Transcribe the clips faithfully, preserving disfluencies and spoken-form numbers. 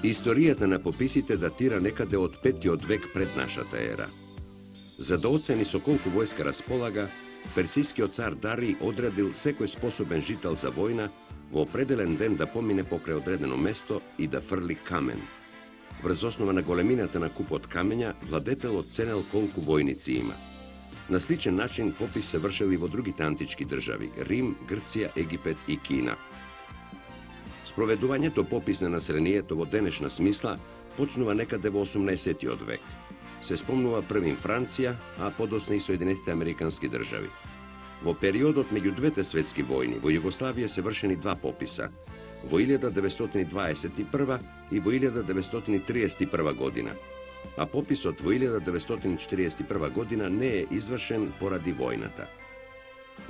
Историјата на пописите датира некаде од петтиот век пред нашата ера. За да оцени со колку војска располага, персискиот цар Дарий одредил секој способен жител за војна во определен ден да помине покрај одредено место и да фрли камен. Врз основа на големината на купот камења, владетелот ценел колку војници има. На сличен начин попис се вршел и во другите антички држави – Рим, Грција, Египет и Кина. Спроведувањето попис на населението во денешна смисла почнува некаде во осумнаесеттиот век. Се спомнува првим Франција, а подоцна и Соединетите Американски држави. Во периодот меѓу двете светски војни во Југославија се вршени два пописа – во илјада деветстотини дваесет и прва и во илјада деветстотини триесет и прва година, а пописот во илјада деветстотини четириесет и прва година не е извршен поради војната.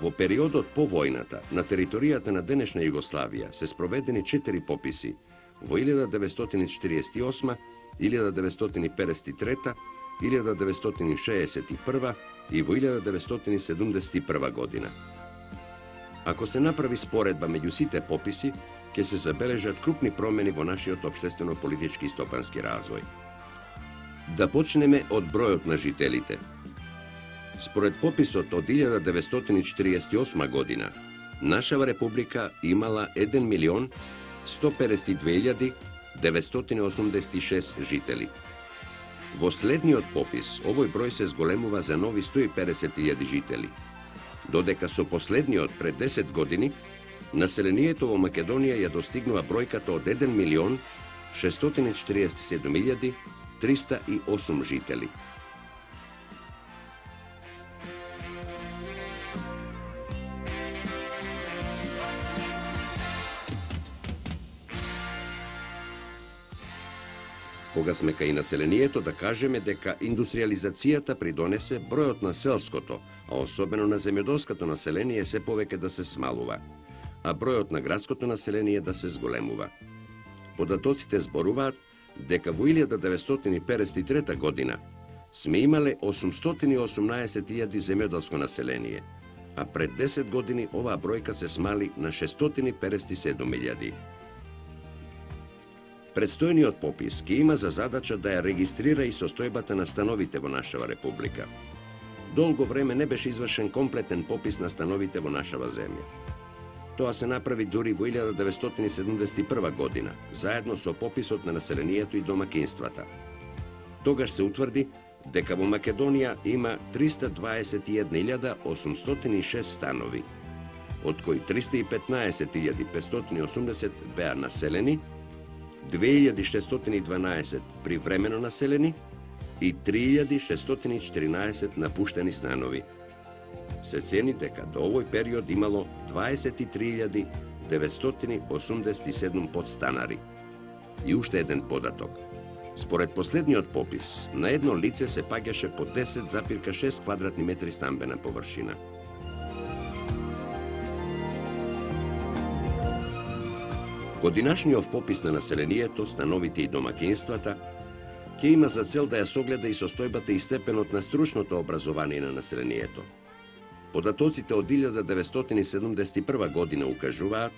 Во периодот по војната, на територијата на денешна Југославија се спроведени четири пописи во илјада деветстотини четириесет и осма, илјада деветстотини педесет и трета, илјада деветстотини шеесет и прва и во илјада деветстотини седумдесет и прва година. Ако се направи споредба меѓу сите пописи, ќе се забележат крупни промени во нашиот општествено-политички и стопански развој. Да почнеме од бројот на жителите. Според пописот од илјада деветстотини четириесет и осма година, нашава република имала еден милион сто педесет и две илјади деветстотини осумдесет и шест жители. Во следниот попис овој број се зголемува за нови сто и педесет илјади жители, додека со последниот пред десет години населението во Македонија ја достигнува бројката од еден милион шестстотини четириесет и седум илјади триста и осум жители. Кога сме кај населението, да кажеме дека индустриализацијата придонесе бројот на селското, а особено на земјоделското население се повеќе да се смалува, а бројот на градското население да се зголемува. Податоците зборуваат дека во илјада деветстотини педесет и трета година сме имале осумстотини и осумнаесет илјади земјоделско население, а пред десет години оваа бројка се смали на шестстотини педесет и седум илјади. Предстојниот попис ќе има за задача да ја регистрира и состојбата на становите во нашава република. Долго време не беше извршен комплетен попис на становите во нашава земја. Тоа се направи дури во илјада деветстотини седумдесет и прва година, заедно со пописот на населението и домакинствата. Тогаш се утврди дека во Македонија има триста дваесет и една илјада осумстотини и шест станови, од кои триста и петнаесет илјади петстотини и осумдесет беа населени, две илјади шестстотини и дванаесет привремено населени и три илјади шестстотини и четиринаесет напуштени станови. Се цени дека до овој период имало дваесет и три илјади деветстотини осумдесет и седум подстанари. И уште еден податок. Според последниот попис, на едно лице се паѓаше по десет запирка шест квадратни метри стамбена површина. Годинашниот попис на населението, становите и домакинствата ќе има за цел да ја согледа и состојбата и степенот на стручното образование на населението. Податоците од илјада деветстотини седумдесет и прва година укажуваат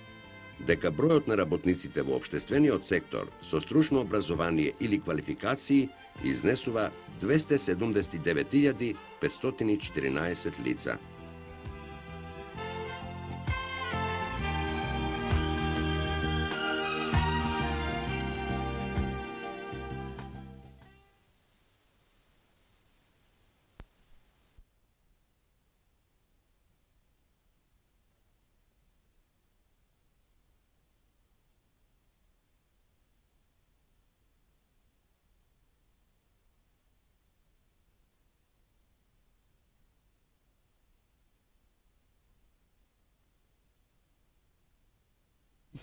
дека бројот на работниците во општествениот сектор со стручно образование или квалификации изнесува двесте седумдесет и девет илјади петстотини и четиринаесет лица.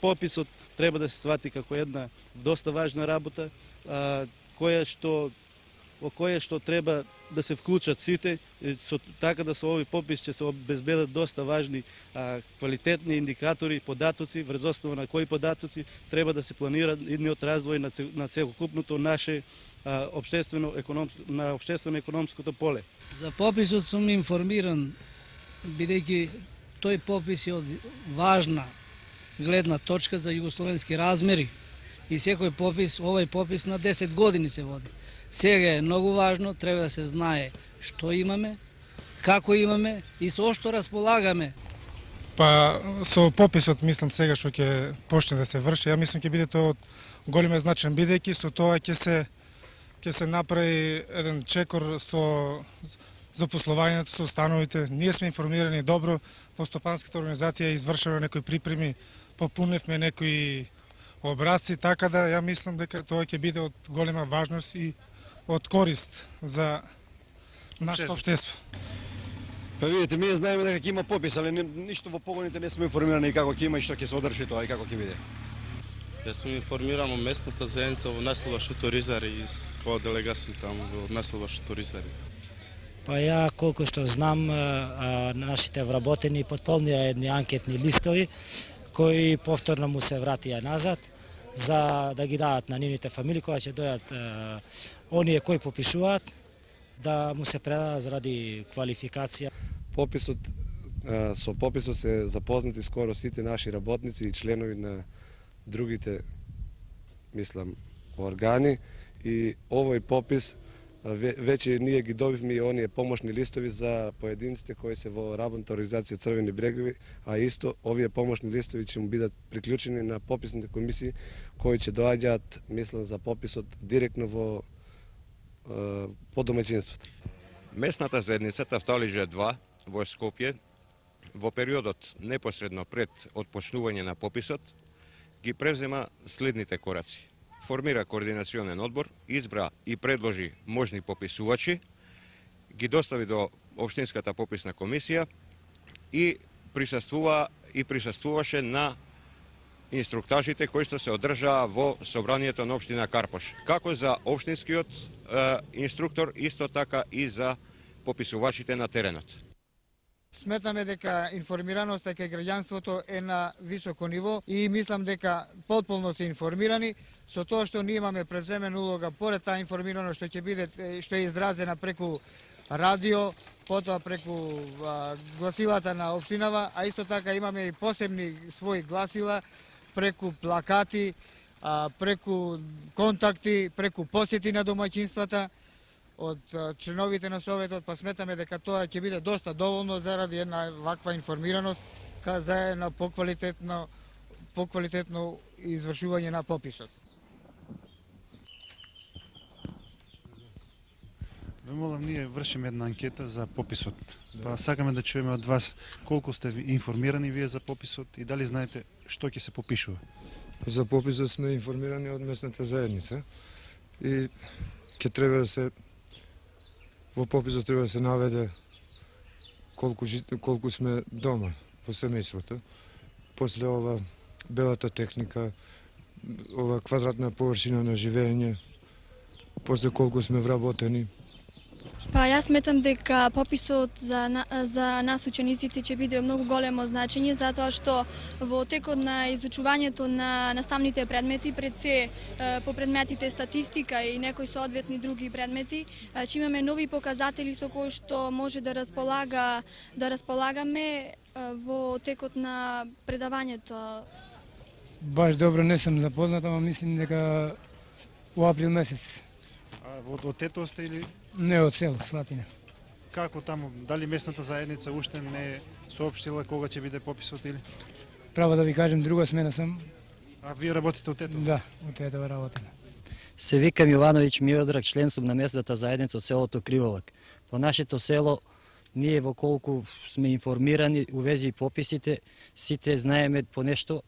Пописот треба да се свати како една доста важна работа, а, која што во која што треба да се вклучат сите, со, така да со овој попис ќе се обезбедат доста важни а, квалитетни индикатори, податоци, врз основа на кои податоци треба да се планира идниот развој на, на целокупното наше а, обштествено економско, на обштествено-економското поле. За пописот сум информиран, бидејќи тој попис е од важна гледна точка за југословенски размери и секој попис, овој попис на десет години се води. Сега е многу важно, треба да се знае што имаме, како имаме и со што располагаме. Па со пописот мислам сега што ќе почне да се врши, ја мислам ќе биде тоа од голем значаен, бидејќи со тоа ќе се ќе се направи еден чекор со запослувањето, со становите. Ние сме информирани добро, во стопанската организација извршено некои припреми, попуневме некои образци, така да ја мислам дека тоа ќе биде од голема важност и од корист за нашето општество. Па видите, ние знаеме дека ќе има попис, али ништо во погоните не сме информирани како ќе има и што ќе се одржи тоа и како ќе биде. Јас сум информиран о местната заедница во населба Шуторизари и која делегација таму во населба Шуторизари. Па ја колку што знам, нашите вработени потполнија едни анкетни листови кои повторно му се вратија назад за да ги дадат на нивните фамилии кога ќе дојат оние кои попишуваат да му се предадат заради квалификација. Пописот, со пописот се запознати скоро сите наши работници и членови на другите, мислам, органи и овој попис веќе ние ги добивме и оние помошни листови за поединците кои се во работната организација Црвени брегови, а исто овие помошни листови ќе му бидат приклучени на пописните комисии кои ќе доаѓаат, мислам, за пописот директно во по домаќинството. Местната заедница Тафталиџа два во Скопје во периодот непосредно пред отпочнување на пописот ги превзема следните кораци. Формира координационен одбор, избра и предложи можни пописувачи, ги достави до општинската пописна комисија и присуствува и присуствуваше на инструктажите кои што се одржаа во собранието на општина Карпош, како за општинскиот е, инструктор, исто така и за пописувачите на теренот. Сметаме дека информираноста кај граѓанството е на високо ниво и мислам дека потполно се информирани со тоа што ние имаме преземена улога поред таа информираност што ќе биде што е изразена преку радио, потоа преку а, гласилата на општинава, а исто така имаме и посебни своји гласила преку плакати, а, преку контакти, преку посети на домаќинствата од членовите на Советот, па сметаме дека тоа ќе биде доста доволно заради една ваква информираност ка за една поквалитетно поквалитетно извршување на пописот. Ве молам, ние вршиме една анкета за пописот. Па сакаме да чуеме од вас колку сте информирани вие за пописот и дали знаете што ќе се попишува. За пописот сме информирани од местната заедница и ќе треба да се во пописот треба да се наведе колку колку сме дома во семејството. После ова белата техника, ова квадратна површина на живење, после колку сме вработени. Па јас сметам дека пописот за, за нас учениците ќе биде многу големо значење затоа што во текот на изучувањето на наставните предмети, пред се по предметите статистика и некои соодветни други предмети, ќе имаме нови показатели со кои што може да располага да располагаме во текот на предавањето. Баш добро не сум запознат, ама мислим дека во април месец. А од Тетово сте или? Не, од село Слатина. Како таму, дали местната заедница уште не соопштила кога ќе биде пописот или? Право да ви кажем, друга смена сам. А вие работите од Тетово? Да, од Тетово работам. Се викам Јовановиќ Миодраг, член сум на местната заедница од селото Криволак. По нашето село, ние во колку сме информирани у вези пописите, сите знаеме по нешто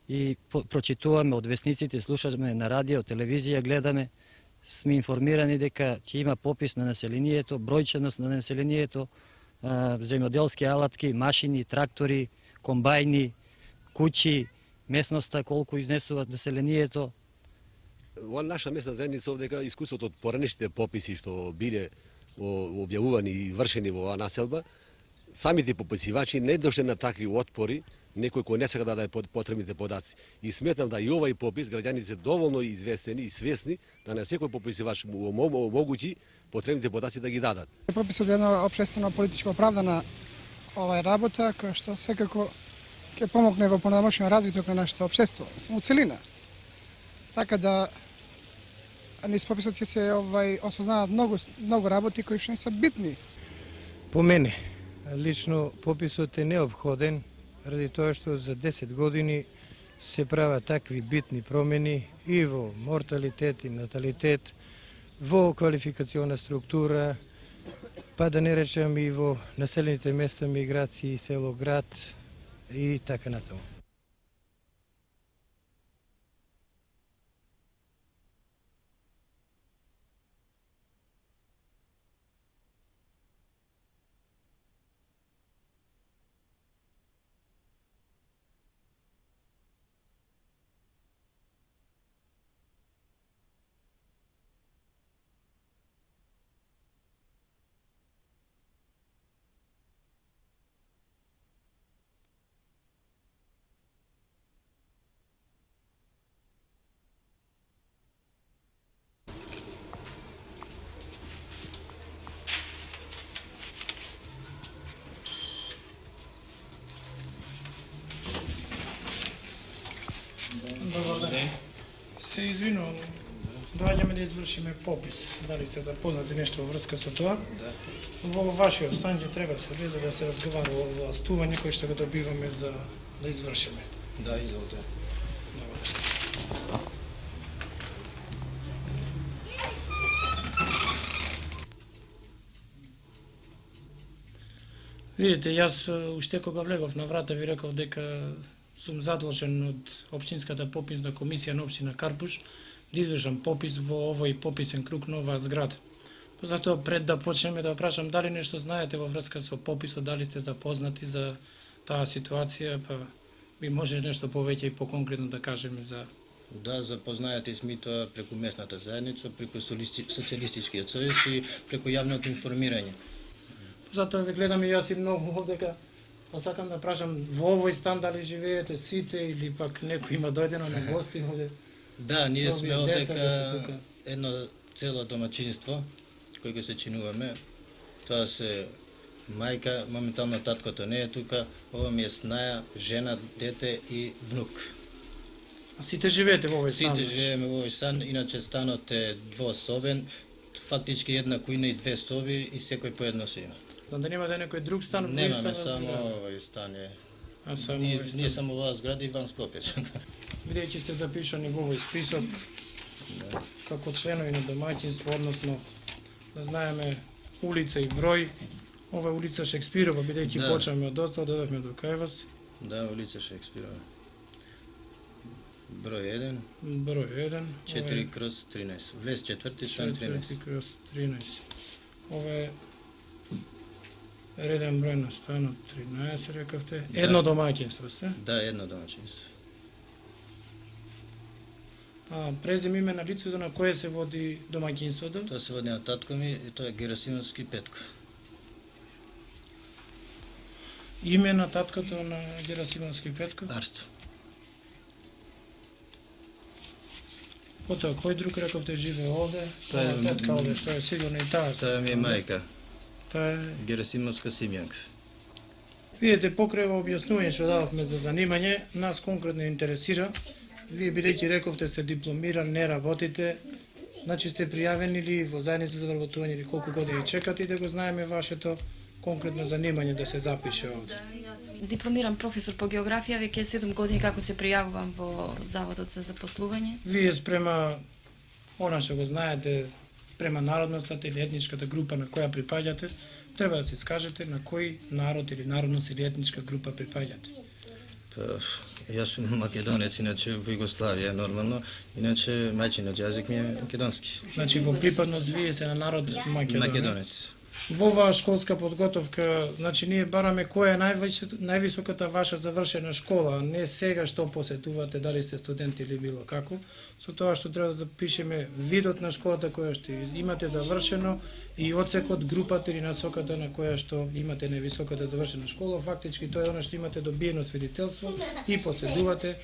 и прочитуваме од весниците, слушаме на радио, телевизија, гледаме. Сме информирани дека ќе има попис на населението, бројченост на населението, земјоделски алатки, машини, трактори, комбајни, куќи, местноста колку изнесуваат населението. Во наша местна заедница овдека искуството од поранешните пописи што биле објавувани и вршени во оваа населба, самите пописивачи не дошле на такви отпори, некој кој не сака да даде потребните подаци. И сметам да и овај попис граѓаните се доволно известени и свесни да на секој пописивач му омогути потребните подаци да ги дадат. Пописот е една општествено политичко оправдана овај работа која што секако ќе помогне во понамошен развиток на нашето општество, во целина. така да низ пописот ќе се овај осознаат многу многу работи кои што не се битни. По мене, лично пописот е неопходен, ради тоа што за десет години се прават такви битни промени и во морталитет и наталитет, во квалификациона структура, па да не речем и во населените места, миграции, село, град и така натаму. Добар ден. Се извинувам, доаѓаме да извршиме попис. Дали сте запознати нешто во врска со тоа? Да. Во вашиот стан ќе треба се влезе да се разговара о властување кој што го добиваме за да извршиме. Да, изволите. Видите, јас уште кога влегов на врата ви реков дека сум задолжен од Општинската пописна комисија на Општина Карпуш да извршам попис во овој пописен круг на оваа зграда. Затоа пред да почнеме да прашам дали нешто знаете во врска со пописот, дали сте запознати за таа ситуација, па би може нешто повеќе и поконкретно да кажеме за... Да, запознаети сме тоа преку местната заедница, преку Социјалистичкиот сојуз и преку јавното информирање. Затоа ве гледам и јас и многу овдека. Па сакам да прашам, во овој стан дали живеете сите или пак некој има дојдено на гости овде? Да, ние сме овдека едно цело домаќинство кој го се чинуваме. Тоа се мајка, моментално таткото не е тука, ова ми е снаја, жена, дете и внук. А сите живеете во овој стан? Сите живееме во овој стан, иначе станот е двособен, фактички една кујна и две соби и секој по едно се има. Знам да немате некој друг стан? Немаме, само овој стан е. А само ние, овој стан? ние само оваа зграда и ван Скопје. Бидејќи сте запишани во овој список, да, како членови на домаќинство, односно да знаеме улица и број, ова улица Шекспирова, бидејќи да. Почнеме од доста, додавме до кај вас. Да, улица Шекспирова. Број еден. Број еден. четири кроз тринаесет. Влез четврти, стан тринаесет. четири кроз тринаесет. Ова е реден број на станот тринаесет, рекавте. Да. Едно домаќинство сте? Да, едно домаќинство. А презим име на лицето на кое се води домаќинството? Тоа се води на татко ми, и тоа е Герасимовски Петко. Име на таткото на Герасимовски Петко? Арсто. Потоа, кој друг рековте живее овде? Тоа е Петка овде, што е сигурно и таа. Тоа ми е мајка. Тоа е Герасимовска Симјанка. Видете, покрај во објаснување што дававме за занимање, нас конкретно интересира. Вие бидејќи рековте сте дипломиран, не работите, значи сте пријавени или во заедница за вработување или колку години чекате и да го знаеме вашето конкретно занимање да се запише овде. Дипломиран професор по географија, веќе седум години како се пријавувам во Заводот за запослување. Вие спрема она што го знаете, према народноста или етничката група на која припаѓате, треба да се искажете на кој народ или народност или етничка група припаѓате. Па, јас сум македонец, иначе во Југославија нормално, иначе мајчиниот јазик ми е македонски. Значи во припадност вие се на народ македонец. Македонец. Во оваа школска подготовка, значи ние бараме која е највисоката ваша завршена школа, а не сега што посетувате, дали сте студент или било како, со тоа што треба да запишеме видот на школата која што имате завршено и одсекот, групата или насоката на која што имате највисоката завршена школа, фактички тоа е она што имате добиено свидетелство и поседувате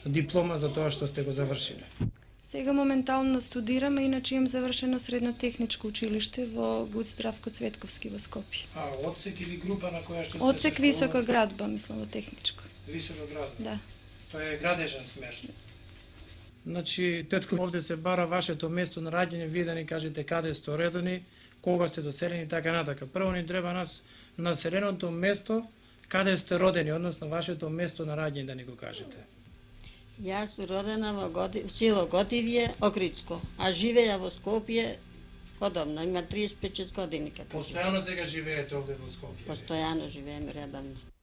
диплома за тоа што сте го завршиле. Сега моментално студирам, иначе имам завршено средно техничко училиште во ГУЦ Здравко Цветковски во Скопје. А одсек или група на која што сте? Одсек висока градба, мислам, во техничко. Висока градба? Да. Тоа е градежен смер. Значи, тетко, овде се бара вашето место на раѓање, вие да ни кажете каде сте родени, кога сте доселени, така натака. Прво ни треба нас населеното место, каде сте родени, односно вашето место на раѓање да ни го кажете. Јас сум родена во Готи... село Готивје, Окритско, а живеја во Скопје одамна, има триесет и пет години како Постојано сега живеете овде во Скопје? Постојано живееме редовно.